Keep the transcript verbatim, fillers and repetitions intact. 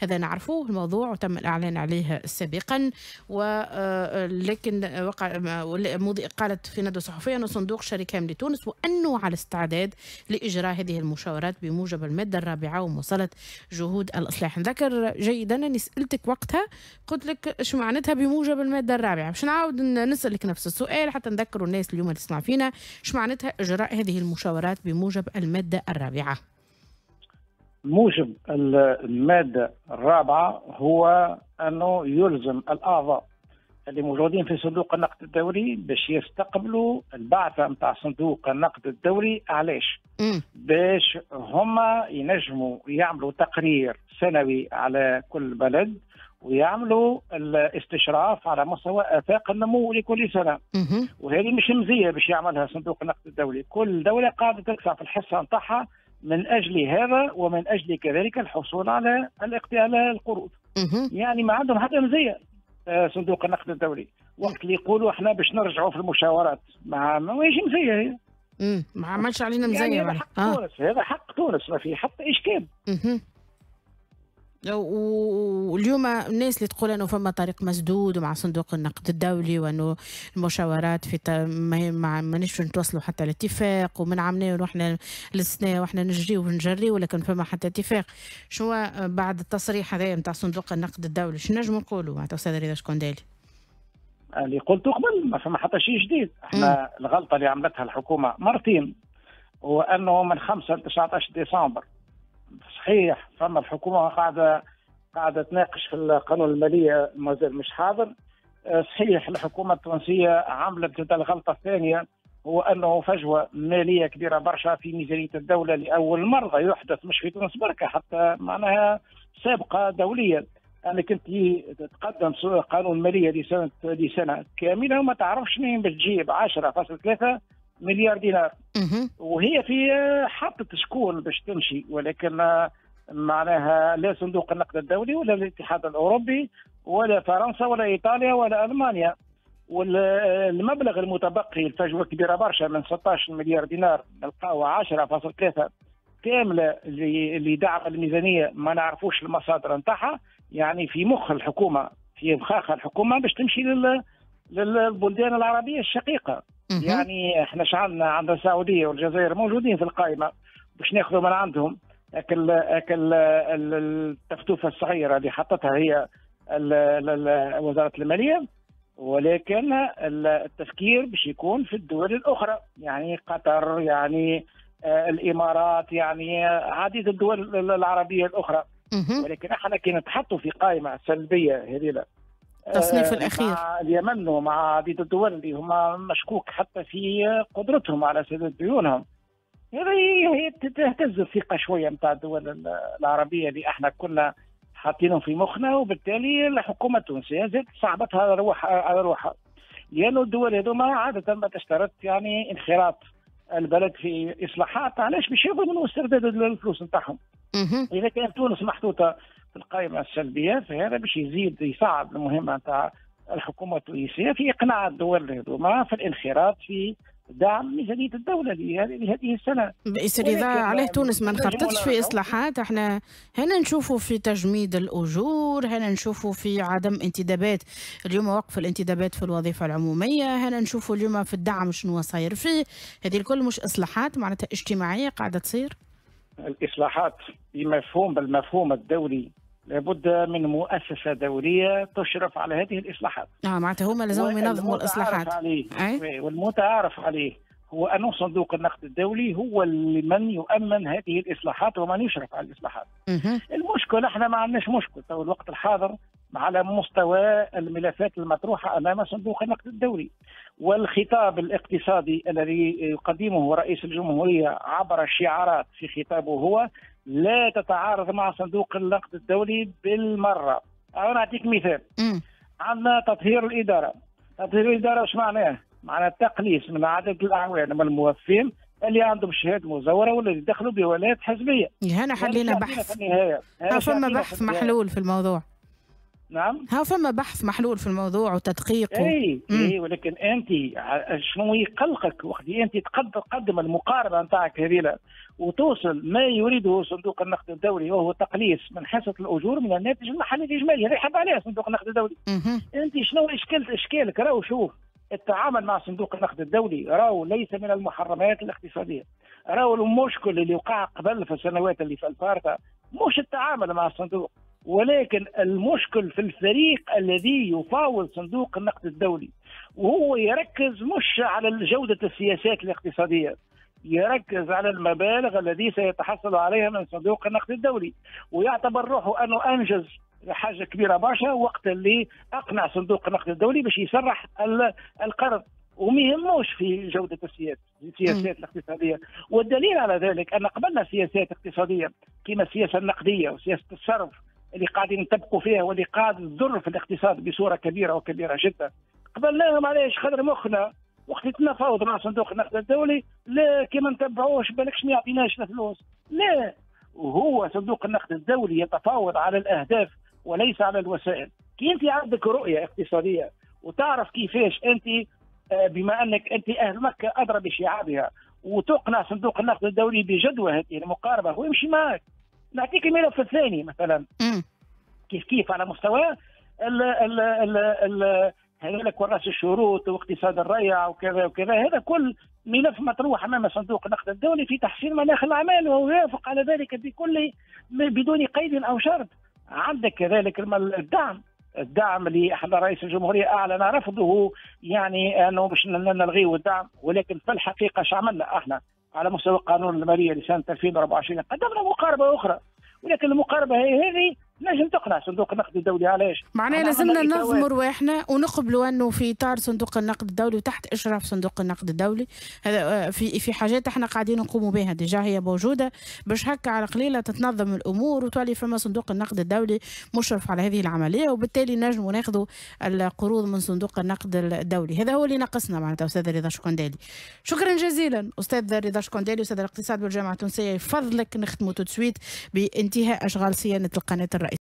هذا نعرفوه الموضوع وتم الإعلان عليه سابقا، ولكن وقع قالت في ندوة صحفية أن صندوق شريك هام لتونس وأنه على استعداد لإجراء هذه المشاورات بموجب المادة الرابعة ومواصلة جهود الإصلاح. نذكر جيدا أني سألتك وقتها قلت لك ايش معناتها بموجب المادة الرابعة، باش نعاود نسألك نفس السؤال حتى نذكروا الناس اليوم اللي تسمع فينا ايش معناتها إجراء هذه المشاورات بموجب المادة الرابعة. موجب المادة الرابعة هو أنه يلزم الأعضاء اللي موجودين في صندوق النقد الدولي باش يستقبلوا البعثة نتاع صندوق النقد الدولي. علاش؟ باش هما ينجموا يعملوا تقرير سنوي على كل بلد ويعملوا الاستشراف على مستوى آفاق النمو لكل سنة. وهذه مش مزية باش يعملها صندوق النقد الدولي، كل دولة قاعدة تدفع في الحصة نتاعها من أجل هذا ومن أجل كذلك الحصول على على القروض. يعني ما عندهم حتى مزية صندوق النقد الدولي. وقت اللي يقولوا احنا باش نرجعوا في المشاورات ما ما يجي مزية هي. امم ما عملش علينا مزية. يعني هذا حق آه. تونس، هذا حق تونس، ما في حتى إشكال. واليوم الناس اللي تقول انه فما طريق مسدود ومع صندوق النقد الدولي وانه المشاورات في ما ما مانيش نتوصلوا حتى لاتفاق، ومن عامنا واحنا للسنة واحنا نجري ونجري ولكن فما حتى اتفاق. شنو بعد التصريح هذا نتاع صندوق النقد الدولي شنو نجموا نقولوا معناتها استاذ رضا شكندالي؟ اللي قلته قبل ما فما حتى شيء جديد. احنا م. الغلطة اللي عملتها الحكومة مرتين هو انه من خمسة ل تسعة عشر ديسمبر صحيح فما الحكومة قاعدة قاعدة تناقش في القانون المالية مازال مش حاضر. صحيح الحكومة التونسية عملت الغلطة الثانية هو انه فجوة ماليه كبيرة برشا في ميزانية الدولة لاول مرة يحدث، مش في تونس بركة، حتى معناها سابقه دوليا. انا كنت تقدم قانون ماليه لسنه لسنه كاملة وما تعرفش منين باش تجيب عشرة فاصلة ثلاثة مليار دينار، وهي في حطت شكون باش تمشي، ولكن معناها لا صندوق النقد الدولي ولا الاتحاد الاوروبي ولا فرنسا ولا ايطاليا ولا المانيا. والمبلغ المتبقي الفجوة كبيرة برشا من ستة عشر مليار دينار نلقاو عشرة فاصلة ثلاثة كاملة اللي دعم الميزانية ما نعرفوش المصادر نتاعها. يعني في مخ الحكومة، في مخاخ الحكومة باش تمشي لل للبلدان العربية الشقيقة. يعني احنا شعلنا عند السعودية والجزائر موجودين في القائمة باش ناخذوا من عندهم اكل اكل التفتوفه الصغيرة اللي حطتها هي وزارة المالية، ولكن التفكير باش يكون في الدول الاخرى، يعني قطر، يعني الامارات، يعني عديد الدول العربية الاخرى. ولكن احنا كي نتحطوا في قائمة سلبية هذه التصنيف الأخير مع اليمن ومع عديد الدول اللي هما مشكوك حتى في قدرتهم على سداد ديونهم، هذه تهتز الثقة شوية نتاع الدول العربية اللي احنا كنا حاطينهم في مخنا، وبالتالي الحكومة التونسية زادت صعبتها على روحها على روحها، لأنه الدول هذوما عادة ما تشترط يعني انخراط البلد في إصلاحات. علاش باش يضمنوا استرداد الفلوس نتاعهم؟ إذا كانت تونس محطوطة في القائمة السلبية فهذا باش يزيد يصعب المهمة نتاع الحكومة التونسية في إقناع الدول هذوما في الانخراط في دعم ميزانية الدولة لهذه السنة. بس رضا عليه تونس ما انخرطتش في إصلاحات. احنا هنا نشوفوا في تجميد الأجور، هنا نشوفوا في عدم انتدابات، اليوم وقف الانتدابات في الوظيفة العمومية، هنا نشوفوا اليوم في الدعم شنو صاير فيه. هذه الكل مش إصلاحات معناتها اجتماعية قاعدة تصير؟ الإصلاحات بمفهوم بالمفهوم الدولي لابد من مؤسسة دولية تشرف على هذه الإصلاحات. اه معناتها هما لازمهم ينظموا الإصلاحات. عليه والمتعارف عليه هو أن صندوق النقد الدولي هو اللي من يؤمن هذه الإصلاحات ومن يشرف على الإصلاحات. المشكل احنا ما عندناش مشكل تو الوقت الحاضر على مستوى الملفات المطروحة أمام صندوق النقد الدولي، والخطاب الاقتصادي الذي يقدمه رئيس الجمهورية عبر الشعارات في خطابه هو لا تتعارض مع صندوق النقد الدولي بالمرة. أنا أعطيك مثال. عندنا تطهير الإدارة. تطهير الإدارة وش معناه؟ معناه التقليص من عدد الأعوان من الموظفين اللي عندهم شهادة مزورة ولا اللي دخلوا بولايات حزبية. هنا حلينا بحث. فما بحث محلول في الموضوع. نعم، ها فما بحث محلول في الموضوع وتدقيق و... اي اي، ولكن انت شنو يقلقك وقت انت تقدم المقاربة نتاعك هذه وتوصل ما يريده صندوق النقد الدولي، وهو تقليص من حصة الاجور من الناتج المحلي الاجمالي، هذا يحب عليها صندوق النقد الدولي. انت شنو اشكال اشكالك؟ راهو شوف، التعامل مع صندوق النقد الدولي راهو ليس من المحرمات الاقتصادية. راهو المشكل اللي وقع قبل في السنوات اللي في الفارطه مش التعامل مع الصندوق، ولكن المشكل في الفريق الذي يفاوض صندوق النقد الدولي، وهو يركز مش على جودة السياسات الاقتصادية، يركز على المبالغ الذي سيتحصل عليها من صندوق النقد الدولي، ويعتبر روحه أنه أنجز حاجة كبيرة برشا وقت اللي أقنع صندوق النقد الدولي باش يسرح القرض، وما يهموش في جودة السياسات الاقتصادية. والدليل على ذلك أن قبلنا سياسات اقتصادية كما السياسة النقدية وسياسة الصرف اللي قاعدين نطبقوا فيها واللي قاعد تضر في الاقتصاد بصورة كبيرة وكبيره جدا، قبلناهم. علاش؟ خاطر مخنا وقت تنفاوض مع صندوق النقد الدولي لا كي ما نتبعوش بالكش ما يعطيناش الفلوس، لا، وهو صندوق النقد الدولي يتفاوض على الاهداف وليس على الوسائل. كي انت عندك رؤية اقتصادية وتعرف كيفاش انت بما انك انت اهل مكة ادرى بشعابها وتقنع صندوق النقد الدولي بجدوى هذه المقاربة ويمشي معك. نعطيك الملف الثاني مثلا كيف كيف على مستوى ال ال ال ال هذاك كراس الشروط واقتصاد الريع وكذا وكذا، هذا كل ملف مطروح امام صندوق النقد الدولي في تحسين مناخ الاعمال، وهو يوافق على ذلك بكل بدون قيد او شرط. عندك كذلك الدعم، الدعم اللي احنا رئيس الجمهورية اعلن رفضه، يعني انه باش نلغيه الدعم، ولكن في الحقيقة اش عملنا احنا على مستوى قانون المالية لسنه ألفين وأربعة وعشرين؟ قدمنا مقاربة اخرى، ولكن المقاربة هي هذه نجم تقنع صندوق النقد الدولي. علاش؟ معناها لازمنا ننظموا رواحنا ونقبلوا انه في اطار صندوق النقد الدولي وتحت اشراف صندوق النقد الدولي، هذا في في حاجات احنا قاعدين نقوموا بها déjà هي موجودة، باش هكا على قليله تتنظم الامور وتولي فما صندوق النقد الدولي مشرف على هذه العملية، وبالتالي نجموا ناخذوا القروض من صندوق النقد الدولي. هذا هو اللي ناقصنا معناتها. استاذ رضا شكندالي، شكرا جزيلا استاذ رضا شكندالي، استاذ الاقتصاد بالجامعة التونسية. يفضلك نختموا tout de suite بانتهاء اشغال صيانة القناة الرئيسية.